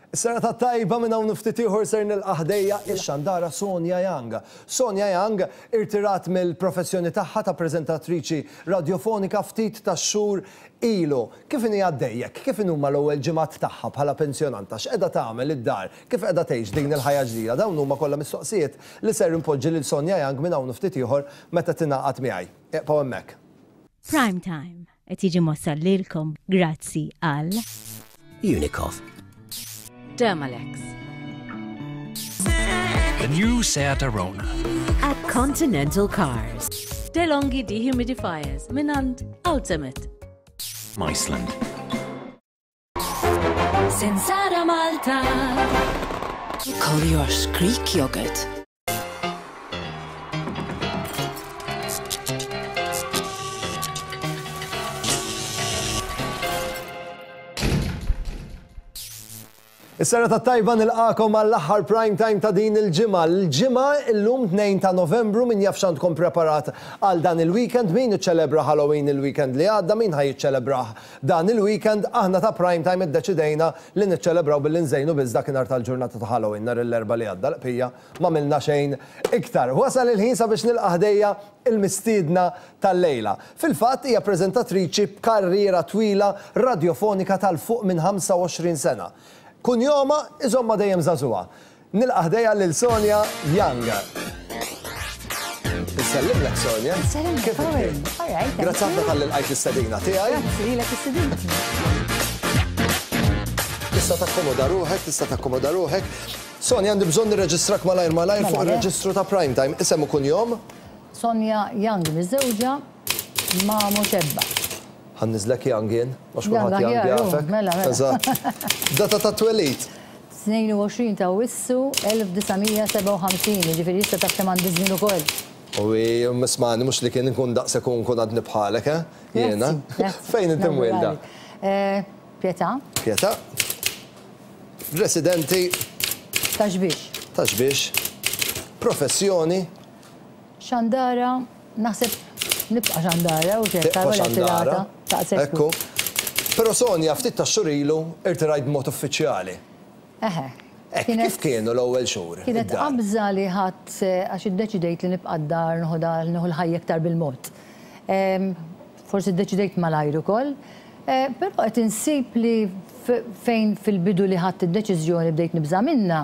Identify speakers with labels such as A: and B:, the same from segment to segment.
A: Is-serata t-tajba minn hawn u ftit ieħor ser nilqa' ħdejja x-xandara Sonia Young. Sonia Young irtirat mill-professjoni tagħha ta' preżentatriċi radjofonika ftit tax-xhur ilu. Kif inhi għaddejjek? Kif inhuma l-ewwel ġimgħat tagħha bħala pensjonanta? X'qiegħda tagħmel id-dar? Kif qiegħda tgħix din il-ħajja ġdida? Dawn huma kollha mistoqsijiet li ser inpoġġi lil Sonia Young minn hawn u ftit ieħor meta tingħaqad miegħi. Iqbgħu hemmhekk.
B: Prime Time qed jiġi mwassal lilkom grazzi għal.
C: Unicov.
B: Dermalex.
D: The new Seat Arona.
B: At Continental Cars. DeLonghi dehumidifiers minant Ultimate.
D: Iceland.
B: Sensara Malta.
E: Collier's Greek yogurt.
A: Is-serata t-tajba nilqagħkom għall-aħħar prime time ta' din il-ġimgħa. L-ġimgħa illum 2 ta' Novembru min jaf x'għandkom preparat għal dan il-weekend, min iċċelebra Halloween il-weekend li għadda, min ħa jiċċelebrah dan il-weekend, aħna ta' prime time iddeċidejna li niċċelebraw billi nżejnu biss dakinhar tal-ġurnata ta' Halloween nhar l-Erbgħa li għadda l-qpija m'għamilna xejn iktar. Wasal il-ħin sabiex nilqa' ħdejja il-mistiedna tal-lejla. Fil-fatt hija preżentatriċi b'karriera twila radjofonika ta' 'l fuq minn 25 sena. Kunjomha iżommha dejjem żagħżugħa. Nilqa' ħdejja lil Sonia Young. Insellimlek Sonia.
F: Insellimlek,
A: Kif inti?
F: All right.
A: Grazzi ħafna talli lqajt l-istedina tiegħi.
F: Grazzi lilek istedintni.
A: Tista' takkomoda ruħek, tista' takkomoda ruħek. Sonia, għandi bżonn nirreġistrak malajr malajr fuq
F: Mela, le.
A: ir-reġistru ta' Prime Time. Isem u kunjom?
F: Sonia Young miżżewġa ma' Moxebba.
A: Ħa nniżżlek Young jien, għax
F: Young
A: kulħadd Young
F: aħjar, hu,
A: jafek.
F: mela, mela.
A: Eżatt. Data ta' twelid?
F: 22 ta' Awwissu 1957, jiġifieri issa taf kemm għandi żmien ukoll.
A: U ismagħni mhux li kien inkun daqshekk u nkun għadni bħalek, eh? Jiena.
F: Grazzi, grazzi.
A: Fejn inti mwielda?
F: Eh, Pietà.
A: Pietà. Residenti.
F: Ta' Xbiex.
A: Ta' Xbiex. Professjoni.
F: Xandara, naħseb nibqa' xandara u xejn,
A: Tibqa' xandara.
F: Ekku.
A: Ekku. Però Sonia, ftit tax-xhur ilu irtirajt b'mod uffiċjali.
F: Eħe.
A: Hekk, kif kienu l-ewwel xhur?
F: Kienet qabża li ħadt għax iddeċidejt li nibqa' d-dar noħodha nieħu l-ħajja iktar bil-mod. Forsi ddeċidejt malajr ukoll, però qed insib li fejn fil-bidu li ħadt id-deċiżjoni bdejt nibża' minnha,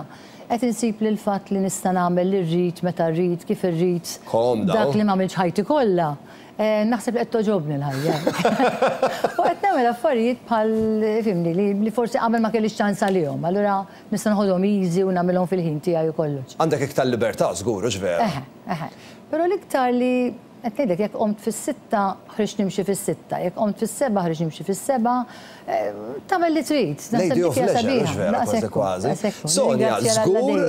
F: qed insib li l-fatt li nista' nagħmel li rrid, meta rrid, kif irrid, dak li m'għamiltx ħajti kollha, naħseb li qed togħġobni l-ħajja. U qed nagħmel affarijiet bħal, fhimni, li forsi qabel ma kellix ċans għalihom. Allura nista' noħodhom easy u nagħmilhom fil-ħin tiegħi u kollox.
A: Għandek iktar libertà żgur, hux vera?
F: Eħe, eħe. Però l-iktar li qed ngħidlek jekk qomt fis-sitta ħriġt nimxi fis-sitta, jekk qomt fis-sebgħa ħriġt nimxi fis-sebgħa, tagħmel li trid.
A: Lady of Leisure, hux vera kważi kważi. Sonia, żgur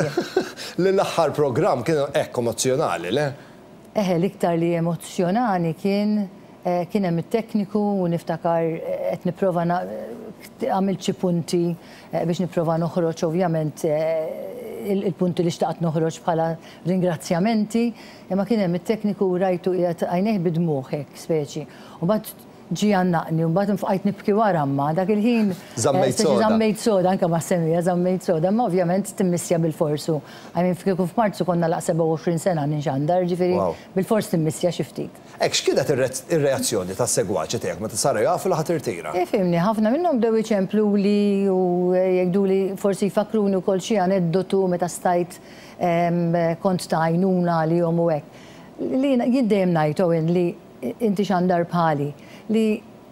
A: li l-aħħar programm kien hekk emozzjonali, le?
F: Eħe, l-iktar li emozzjonani kien kien hemm it-tekniku u niftakar qed nipprova għamilt xi punti biex nipprova noħroġ ovvjament il-punti li xtaqt noħroġ bħala ringrazzjamenti, imma kien hemm it-tekniku u rajtu qiegħed għajnejh bid-dmugħ hekk speċi. U mbagħad ġie jgħannaqni u mbagħad bqajt nibki wara imma dak il-ħin
A: Żammejt
F: speċi
A: soda.
F: żammejt soda anke ma' semija żammejt soda, imma ovvjament timmissja bilfors u I mean kieku f'Marzu konna laq 27 sena ninxandar, jiġifieri
A: Wow.
F: bilfors timmissja xi ftit.
A: Hekk, x'kienet ir-reazzjoni tas-segwaċi tiegħek meta saru jafu li ħa tirtira?
F: Ifhimni, ħafna minnhom bdew iċempluli u jgħiduli forsi jfakkruni wkoll xi aneddotu meta stajt kont ta' għajnuna għalihom u hekk. Li jien dejjem ngħid, Owen, li inti xandar bħali, li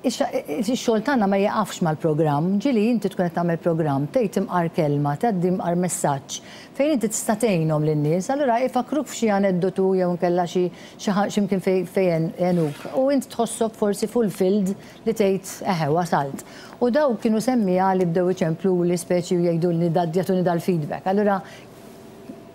F: ix-xogħol tagħna ma jieqafx mal-programm. Ġieli inti tkun qed tagħmel programm, tgħid imqar kelma, tgħaddi imqar messaġġ fejn inti tista' tgħinhom lin-nies, allura ifakruk f'xi aneddotu jew inkella xi xi mkien fejn għenuk u int tħossok forsi fulfilled li tgħid eħe wasalt. U dawk kienu semmiegħa li bdew iċempluli speċi u jgħidulni jagħtuni dal-feedback. Allura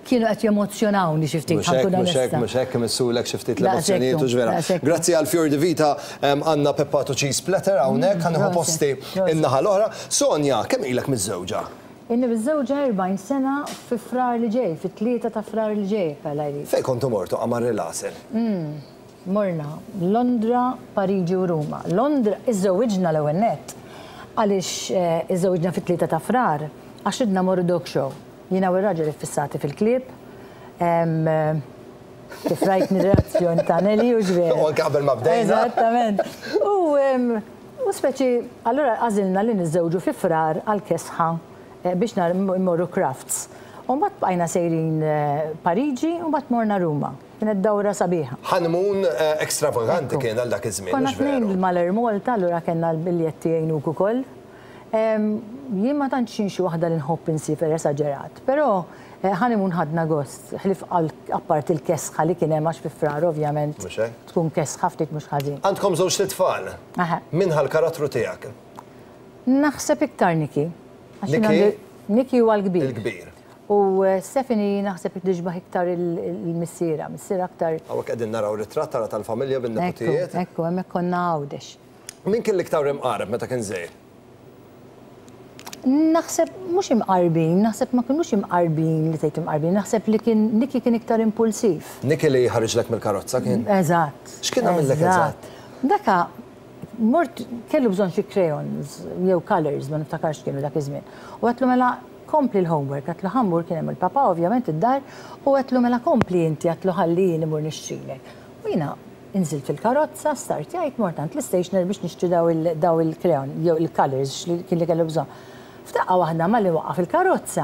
F: kienu qed jemozzjonawni xi ftit,
A: Mhux
F: ħa
A: hekk,
F: nkun
A: mhux hekk,
F: onesta.
A: mhux hekk, imissulek xi ftit
F: Daqshekk
A: l-emozzjonijiet,
F: hu,
A: hux vera.
F: daqshekk hu.
A: Grazzi għal Fior di Vita għandna peppato cheese platter hawnhekk, ħa nieħu
F: Proset,
A: posti
F: proset.
A: in-naħa l-oħra. Sonia, kemm ilek miżżewġa?
F: Ilni miżżewġa 40 sena fi Frar li ġej, fit-3 ta' Frar li ġej, jekk Alla jrid.
A: Fejn kontu mortu qamar il-għasel?
F: Morna Londra, Pariġi u Ruma. Londra, iżżewwiġna l-ewwel nett għaliex iżżewwiġna fit-3 ta' Frar. Għax ridna mmorru dog show. Jiena u r-raġel iffissati fil-klieb. Kif rajtni r-reazzjoni ta' Nelly hux veru?
A: U anke qabel ma bdejna.
F: Eżattament. U speċi allura għażilna li niżżewġu fi Frar għall-kesħa biex mmorru crafts. U mbagħad bqajna sejrin Pariġi u mbagħad morna Ruma. Kienet dawra sabiħa.
A: Honeymoon ekstravaganti kien għal dak iż-żmien,
F: Konna tnejn mal-Air Malta, allura kellna l-biljetti jgħinuk ukoll. Jien ma tantx jien xi waħda li nħobb insiefer esaġerat, però honeymoon ħadna gost, ħlief apparti l-kesħa li kien hemm għax fi Frar ovvjament tkun kesħa ftit mhux ħażin.
A: Għandkom żewġt itfal. Min ħa l-karattru tiegħek?
F: Naħseb iktar Nicky.
A: Nicky?
F: Nicky huwa l-kbir.
A: Il-kbir.
F: U Stephanie naħseb tixbah iktar il-missierha, missierha aktar.
A: Hawnhekk qegħdin naraw ritratt tara tal-familja bin-neputijiet.
F: Ekku, ekku, hemmhekk konna Għawdex.
A: Min kien l-iktar imqareb meta kien żgħir?
F: Naħseb mhux imqarbin, naħseb ma kinux imqarbin li tgħid imqarbin, naħseb li kien Nicky kien iktar impulsiv.
A: Nicky li ħariġlek mill-karozza kien?
F: Eżatt.
A: X'kien għamillek eżatt?
F: Daka mort kellu bżonn xi crayons jew colours, ma niftakarx kienu dak iż-żmien. U għedtlu mela kompli l-homework, għedtlu ħa mmur kien hemm il-papà ovvjament id-dar, u għedtlu mela kompli inti għedtlu ħalli jien immur nixtrilek. U jiena Inżilt fil-karozza, startjajt, mort għand l-istationer biex nixtri daw il-crayon jew il-colours x'kien li kellu bżonn. F'daqqa waħda malli waqqaf il-karozza,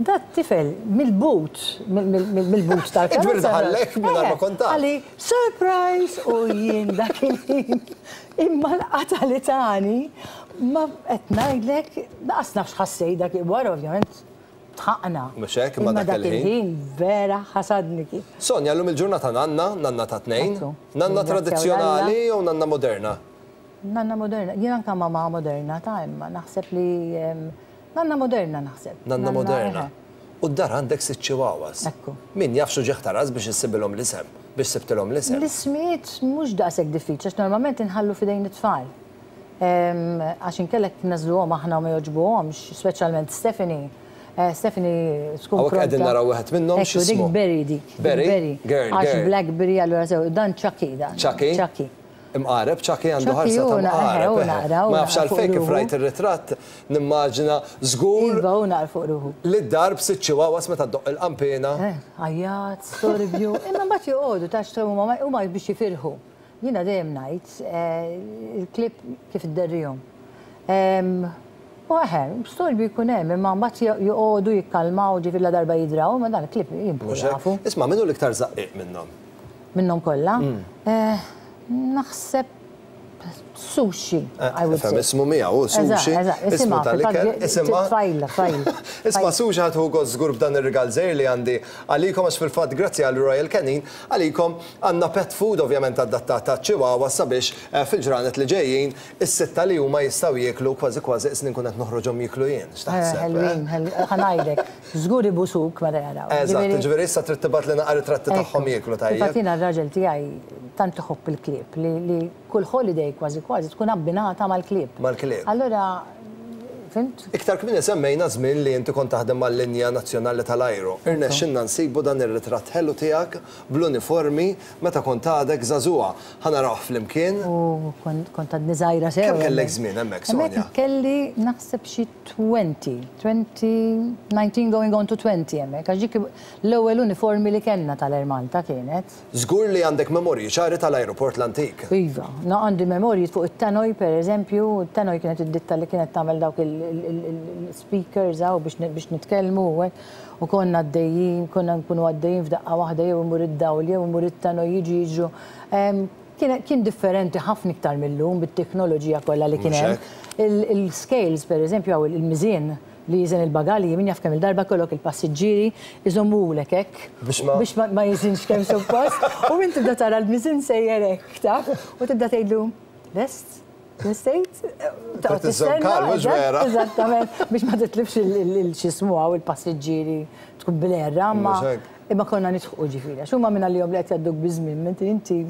F: dat-tifel mill-but, mill-but tal-karozza.
A: Jiġifieri daħallek mingħajr ma kont taf.
F: Qalli, surprise! U jien dak il-ħin imma l-qatgħa li tani ma qed ngħidlek lanqas naf x'ħassejt dak wara ovvjament Dħaqna.
A: Mhux hekk, imma dak
F: il-ħin vera ħasadni kif.
A: Sonja, llum il-ġurnata nanna, nanna ta' tnejn. Nanna tradizzjonali jew nanna moderna?
F: Nanna moderna. Jien anke mamà moderna ta' imma naħseb li nanna moderna naħseb.
A: Nanna moderna. U d-dar għandek sitt chihuahuas.
F: Ekku.
A: Min jaf x'uġigħ ta' ras biex issibilhom l-isem, biex sibtilhom l-isem.
F: L-ismijiet mhux daqshekk diffiċli għax normalment inħallu f'idejn it-tfal. Għax inkella jekk nagħżluhom aħna u ma jogħġbuhomx, speċjalment Stephanie, Stephanie tkun
A: Hawnhekk qegħdin naraw wieħed minnhom x'ismu?
F: Ekku, dik Berry dik.
A: Berry? Girl, girl.
F: Għax Blackberry allura sew, dan Chucky dan.
A: Chucky?
F: Chucky.
A: Imqareb, Chucky għandu ħarsa ta' mqareb. Ma nafx għalfejn kif rajt ir-ritratt nimmaġina żgur.
F: Iva, hu naqra fuq ruħu.
A: Li d-dar b'sitt chihuahuas meta ddoqq il-qanpiena.
F: Għajjat, storbju, imma mbagħad joqogħdu taf huma huma biex jifirħu. Jiena dejjem ngħid, il-klieb kif idderrihom. U eħe, storbju jkun hemm, imma mbagħad joqogħdu jikkalmaw, ġifieri ladarba jidraw, imma dan il-klieb jien jafu.
A: Isma' min hu l-iktar żaqqiq minnhom?
F: Minnhom kollha? Naħseb Sushi, I would say.
A: Ifhem ismu miegħu, hu Sushi. Ismu tal-ikel, isimha.
F: Tfajla, tfajla.
A: Isma' Sushi ħa tieħu gost żgur b'dan ir-rigal żgħir li għandi għalikom għax fil-fatt grazzi għal Royal Canin Għalikom, għandna pet food ovvjament adattat għaċ-chihuahua sabiex fil-ġranet li ġejjin, is-sitta li huma jistgħu jieklu kważi kważi qisni nkun qed noħroġhom jieklu jien. X'taħseb?
F: Ħelwin, ħelwin. Ħa ngħidlek, żgur ibusuk meta jaraw.
A: Eżatt, jiġifieri issa trid tibgħatli naqra ritratti tagħhom jieklu, tajjeb?
F: Fil-fatt jiena r-raġel tiegħi tant iħobb il-klieb li kull holiday kważi kważi tkun abbinata mal-klieb.
A: Mal-klieb.
F: Allura, fhimt?
A: Iktar kmieni semmejna żmien li inti kont taħdem mal-linja nazzjonali tal-ajru. Irnexxilna nsibu dan ir-ritratt ħelu tiegħek bl-uniformi meta kont għadek żagħżugħa. Ħa narawh flimkien.
F: U kont għadni żgħira sew.
A: Kemm kellek żmien hemmhekk, Sonia?
F: Hemmhekk kelli naħseb xi 20, 20, 19 going on to 20 hemmhekk, għax dik l-ewwel uniformi li kellna tal-Air Malta kienet.
A: Żgur li għandek memorji ċari tal-ajruport l-antik.
F: Iva. No, għandi memorji fuq it-Tannoy, per eżempju. It-Tannoy kienet id-ditta li kienet tagħmel dawk il-speakers hawn biex nitkellmu u hekk. U konna għaddejjin, konna nkunu għaddejjin f'daqqa waħda jew imur id-dawl jew imur it-Tannoy jiġu jiġru. Kien differenti ħafna iktar mil-lum bit-teknoloġija kollha li kien hemm. Il-scales, per eżempju, hawn il-miżien li jiżen il-bagalji, min jaf kemm-il darba jkollok il-passiġġieri iżommulek hekk biex ma jiżinx kemm suppost u int tibda tara l-miżien sejjer hekk, taf, u tibda tgħidlu, lest? Lestejt?
A: Trid iżżomm kalm, mhux vera?
F: Eżattament, biex ma titlifx il-x'jismu hawn il-passiġġieri tkun bil-għerra, imma imma konna nidħqu ġifieri għax huma mingħalihom li qed jgħadduk biż-żmien mentri inti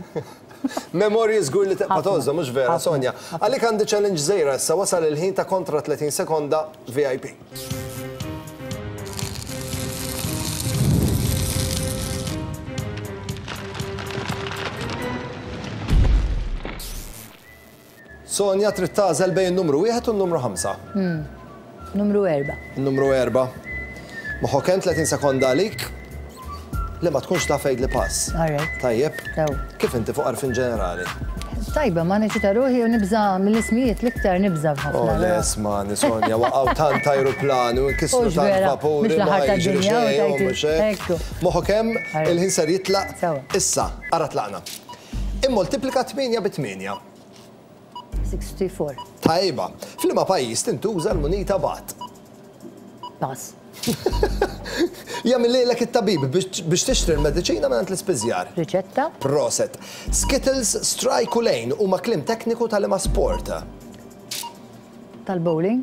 A: Memorji żgur li tibqa' tgħożżhom, mhux vera, Sonja? Għalik għandi challenge żgħira issa, wasal il-ħin ta' kontra 30 sekonda VIP. Sonja trid tagħżel bejn numru wieħed u n-numru ħamsa.
F: Numru 4.
A: Numru 4. Moħħok hemm 30 sekonda għalik li ma tkunx taf għidli pass.
F: All right.
A: Tajjeb.
F: Sew.
A: Kif inti fuq għarfien ġenerali?
F: Tajba, ma neċita ruħi u nibża mill-ismijiet l-iktar nibża ħafna.
A: Oh, le, ismani, Sonja, waqgħu tant ajruplani u nkissru
F: Hux
A: tant
F: vera,
A: vapuri.
F: mhux
A: ma
F: l-aħħar
A: jiġri
F: tad-dinja u
A: xejn, u
F: tajti.
A: mhux hekk.
F: Ekku.
A: Moħħok hemm,
F: All right.
A: il-ħin ser jitlaq.
F: Sewa.
A: Issa, ara tlaqna. Immoltiplika 8 bi 8.
F: 64.
A: Tajba. F'liema pajjiż tintuża l-munita baht?
F: Pass.
A: Jagħmilhielek it-tabib biex tixtri l-mediċina mingħand l-ispiżjar.
F: Riċetta.
A: Proset. Skittles, strike u lane huma kliem tekniku ta' liema sport?
F: Tal-bowling.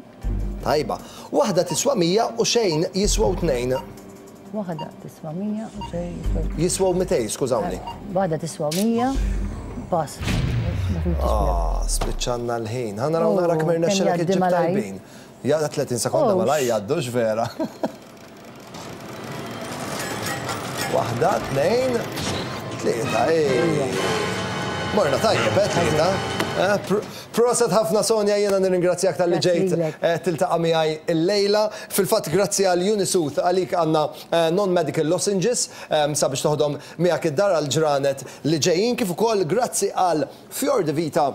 A: Tajba. Waħda tiswa 100 u xejn jiswew tnejn.
F: Waħda tiswa 100 u xejn jiswew.
A: Jiswew 200, skużawni.
F: Waħda tiswa 100, pass.
A: Ah, spiċċanna l-ħin. Ħa naraw nara kemm irnexxilek iġġib tajbin. Jgħadda 30 sekonda
F: Oh,
A: malaj jgħaddux vera. Waħda, tnejn, tlieta, ej. Morna tajjeb, eh, tlieta. Eh, Proset ħafna Sonja, jiena nirringrazzjak talli ġejt tiltaqa' miegħi illejla. Fil-fatt grazzi għal Unisooth għalik għandna non-medical lozenges sabiex toħodhom miegħek id-dar għall-ġranet li ġejjin kif ukoll grazzi għal Fior di Vita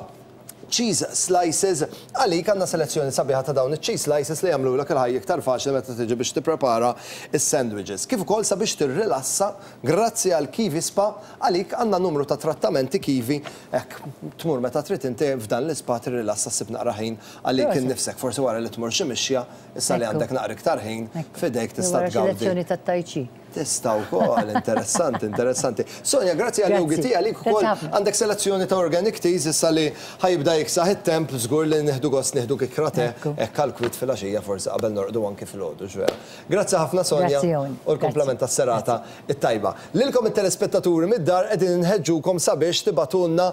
A: cheese slices għalik għandna selezzjoni sabiħa ta' dawn iċ-cheese slices li jagħmlulek il-ħajja iktar faċli meta tiġi biex tipprepara s-sandwiches. Kif ukoll sabiex tirrilassa grazzi għal Kiwi Spa għalik għandna numru ta' trattamenti Kiwi Hekk, tmur meta trid inti f'dan l-ispa tirrilassa ssib naqra ħin għalik innifsek. Forsi wara li tmur xi mixja, issa li għandek naqra iktar ħin f'idejk tista' tgawdi.
F: Jew wara xi lezzjoni tat-tai chi.
A: Tista' wkoll, interessanti, interessanti. Sonja, grazzi għal Yogi Tea, għalik ukoll għandek selezzjoni ta' organic teas issa li ħa jibda jiksaħ it-temp, żgur li nieħdu gost nieħdu kikkra te hekk għall-kwiet filgħaxija forsi qabel norqdu anki filgħodu, x'vera. Grazzi ħafna Sonja u l-kumplament tas-serata it-tajba. Lilkom it-telespettaturi mid-dar qegħdin inħeġġukom sabiex tibagħtulna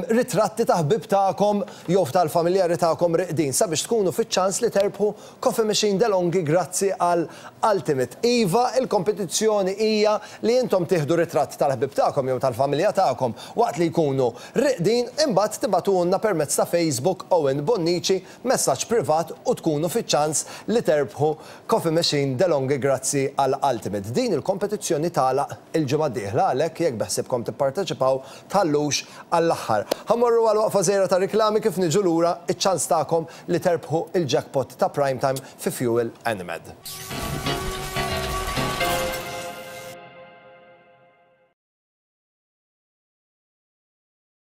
A: ritratti ta' ħbieb tagħkom jew tal-familjari tagħkom riqdin sabiex tkunu fiċ-ċans li terbħu Coffee Machine DeLonghi grazzi għal Ultimate. Iva, il-kompetizzjoni hija li intom tieħdu ritratt tal-ħbieb tagħkom jew tal-familja tagħkom waqt li jkunu riqdin imbagħad tibagħtulna permezz ta' Facebook Owen Bonnici messaġġ privat u tkunu fiċ-ċans li terbħu Coffee Machine DeLonghi grazzi għal Ultimate. Din il-kompetizzjoni tagħlaq il-ġimgħa d-dieħla għalhekk jekk beħsiebkom tipparteċipaw tħallux għall-aħħar. Ħa mmorru għal waqfa żgħira ta' riklami kif niġu lura iċ-ċans tagħkom li terbħu il-jackpot ta' Prime Time fi Fuel Enemed.